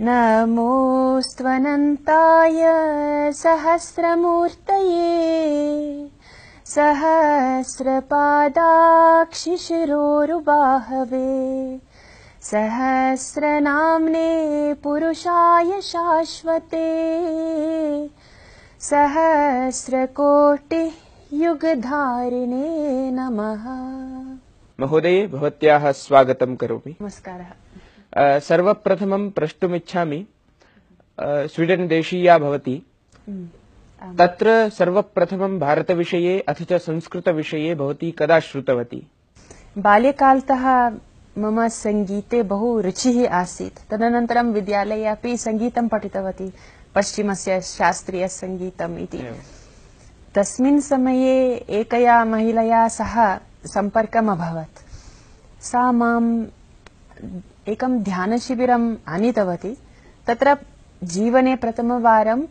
नमोऽस्त्वनन्ताय सहस्रमूर्तये सहस्रपादाक्षिशिरोरुबाहवे सहस्रनाम्ने पुरुषाय शाश्वते सहस्रकोटियुगधारिणे नमः। महोदये, भवत्याः स्वागतं करोमि। नमस्कारः। सर्वप्रथमं प्रष्टुमिच्छामि, स्वीडन् देशीया भवति, तत्र सर्वप्रथमं भारतविषये अथ च संस्कृतविषये भवती कदा श्रुतवती? बाल्यकालतः मम सङ्गीते बहु रुचिः आसीत्। तदनन्तरं विद्यालये अपि सङ्गीतं पठितवती, पश्चिमस्य शास्त्रीयसङ्गीतम् इति। तस्मिन् समये एकया महिलया सह सम्पर्कम् अभवत्। सा माम् एकं ध्यानशिबिरम् आनीतवती। तत्र जीवने प्रथमवारम्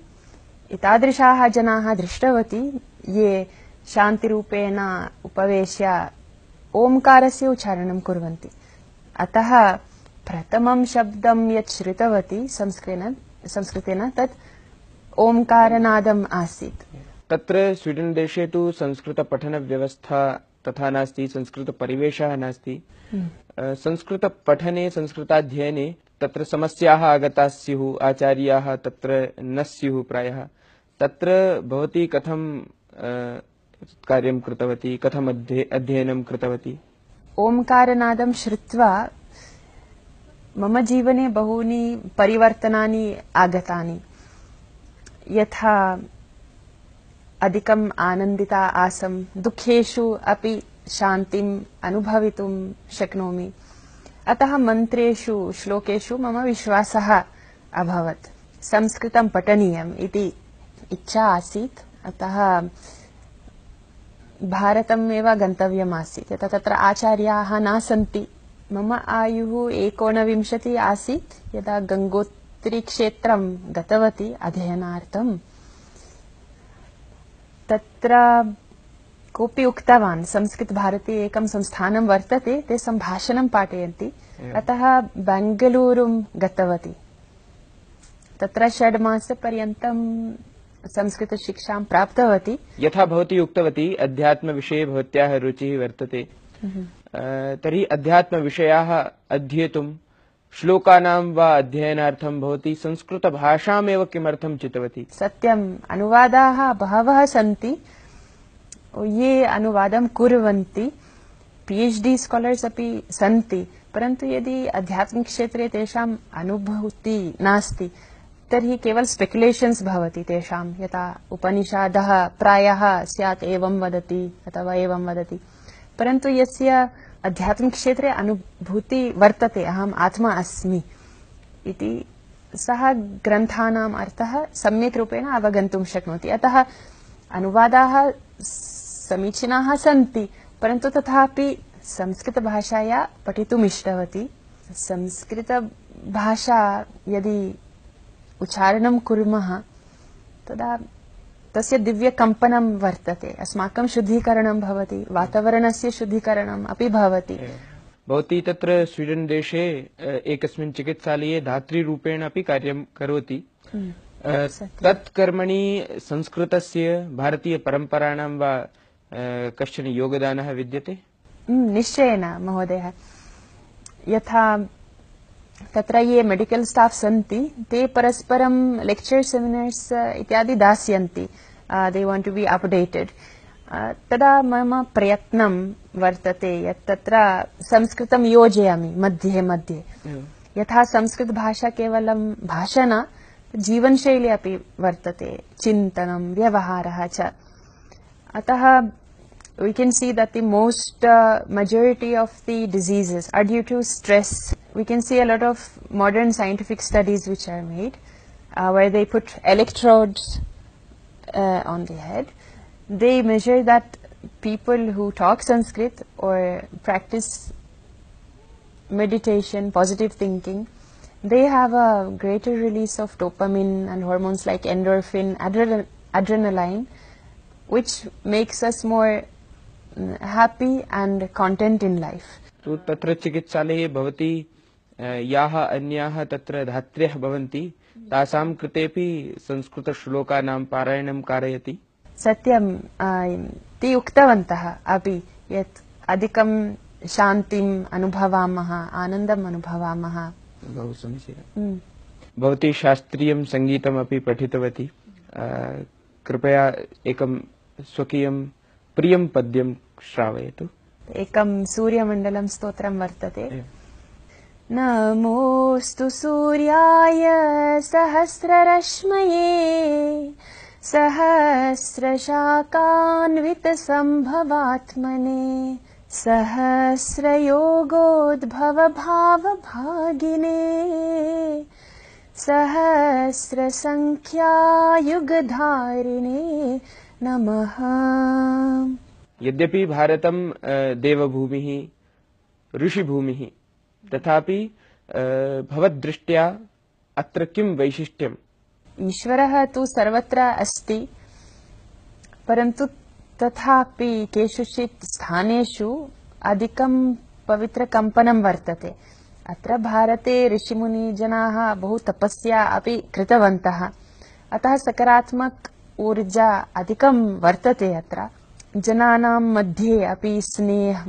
एतादृशाः जनाः दृष्टवती ये शान्तिरूपेण उपवेश्य ओंकारस्य उच्चारणं कुर्वन्ति। अतः प्रथमं शब्दं यत् श्रुतवती संस्कृतेन तत् ओंकारनादम् आसीत्। तत्र स्वीडन् देशे तु संस्कृतपठनव्यवस्था तथा नास्ति, संस्कृतपरिवेशः नास्ति। संस्कृतपठने संस्कृताध्ययने तत्र समस्याः आगताः स्युः, आचार्याः तत्र न स्युः प्रायः। तत्र भवती कथं कार्यं कृतवती, कथम् अध्ययनं कृतवती? ओंकारनादं श्रुत्वा मम जीवने बहूनि परिवर्तनानि आगतानि। यथा अधिकम् आनन्दिता आसम्, दुःखेषु अपि शान्तिम् अनुभवितुं शक्नोमि। अतः मन्त्रेषु श्लोकेषु मम विश्वासः अभवत्। संस्कृतं पठनीयम् इति इच्छा आसीत्। अतः भारतम् एव गन्तव्यम् आसीत्। यथा तत्र आचार्याः न सन्ति। मम आयुः 29 आसीत् यदा गङ्गोत्रीक्षेत्रं गतवती अध्ययनार्थम्। तत्र कोऽपि उक्तवान्, संस्कृतभारती एकं संस्थानं वर्तते, ते सम्भाषणं पाठयन्ति। अतः बेङ्गलूरुं गतवती। तत्र 6 मासपर्यन्तं संस्कृतशिक्षां प्राप्तवती। यथा भवती उक्तवती अध्यात्मविषये भवत्याः रुचिः वर्तते, तर्हि अध्यात्मविषयाः अध्येतुं श्लोकानां वा अध्ययनार्थं भवती संस्कृतभाषामेव किमर्थं चितवती? सत्यम्, अनुवादाः बहवः सन्ति ये अनुवादं कुर्वन्ति, PhD स्कॉलर्स् अपि सन्ति। परन्तु यदि आध्यात्मिकक्षेत्रे तेषाम् अनुभूतिः नास्ति तर्हि केवल स्पेक्युलेशन्स् भवति तेषां। यथा उपनिषदः प्रायः स्यात् एवं वदति अथवा एवं वदति, परन्तु यस्य आध्यात्मिकक्षेत्रे अनुभूति वर्तते, अहम् आत्मा अस्मि इति, सः ग्रन्थानाम् अर्थः सम्यक् रूपेण अवगन्तुं शक्नोति। अतः अनुवादाः समीचीनाः सन्ति, परन्तु तथापि संस्कृतभाषाया पठितुम् इष्टवती। संस्कृतभाषा यदि उच्चारणं कुर्मः तदा तस्य दिव्यकम्पनं वर्तते, अस्माकं शुद्धीकरणं भवति, वातावरणस्य शुद्धीकरणम् अपि भवति। भवती तत्र स्वीडन् देशे एकस्मिन् चिकित्सालये धात्रीरूपेण अपि कार्यं करोति। तत् कर्मणि संस्कृतस्य भारतीयपरम्पराणां वा कश्चन योगदानः विद्यते? निश्चयेन महोदय। यथा तत्र ये मेडिकल स्टाफ सन्ति ते परस्परं लेक्चर सेमिनार्स् इत्यादि दास्यन्ति। They want to be updated. तदा मम प्रयत्नं वर्तते यत् तत्र संस्कृतं योजयामि मध्ये मध्ये। यथा संस्कृतभाषा केवलं भाषा न, जीवनशैली अपि वर्तते, चिन्तनं, व्यवहारः च। अतः we can see that the most majority of the diseases are due to stress. We can see a lot of modern scientific studies which are made where they put electrodes on the head. They measure that people who talk Sanskrit or practice meditation, positive thinking, they have a greater release of dopamine and hormones like endorphin, adrenaline, which makes us more happy and content in life. तो तत्र चिकित्सालये भवती याः अन्याः तत्र धात्र्यः भवन्ति तासां कृतेपि संस्कृतश्लोकानां पारायणं कारयति। सत्यं ते उक्तवन्तः अपि यत् अधिकं शान्तिम् अनुभवामः, आनन्दम् अनुभवामः। बहु समीचीनं। भवती शास्त्रीयं सङ्गीतमपि पठितवती। कृपया एकं स्वकीयं प्रियं पद्यं श्रावयतु। एकं सूर्यमण्डलं स्तोत्रं वर्तते। नमोऽस्तु सूर्याय सहस्ररश्मये सहस्रशाखान्वितसम्भवात्मने सहस्रयोगोद्भवभावभागिने सहस्रसङ्ख्यायुगधारिणे नमः। यद्यपि भारतं देवभूमिः ऋषिभूमिः तथापि भवद्दृष्ट्या अत्र किं वैशिष्ट्यम्? ईश्वरः तु सर्वत्र अस्ति, परन्तु तथापि केषुचित् स्थानेषु अधिकं पवित्रकम्पनं वर्तते। अत्र भारते ऋषिमुनिजनाः बहु तपस्या अपि कृतवन्तः, अतः सकारात्मक ऊर्जा अधिकं वर्तते। अत्र जनानां मध्ये अपि स्नेह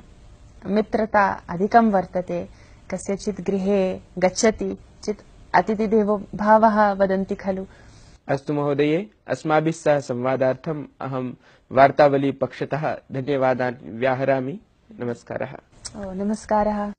मित्रता अधिकं वर्तते। कस्यचित् गृहे गच्छति चेत् अतिथिदेवो भवः वदन्ति खलु। अस्तु महोदये, अस्माभिः सह संवादार्थम् अहं वार्तावली पक्षतः धन्यवादान् व्याहरामि। नमस्कारः। नमस्कारः।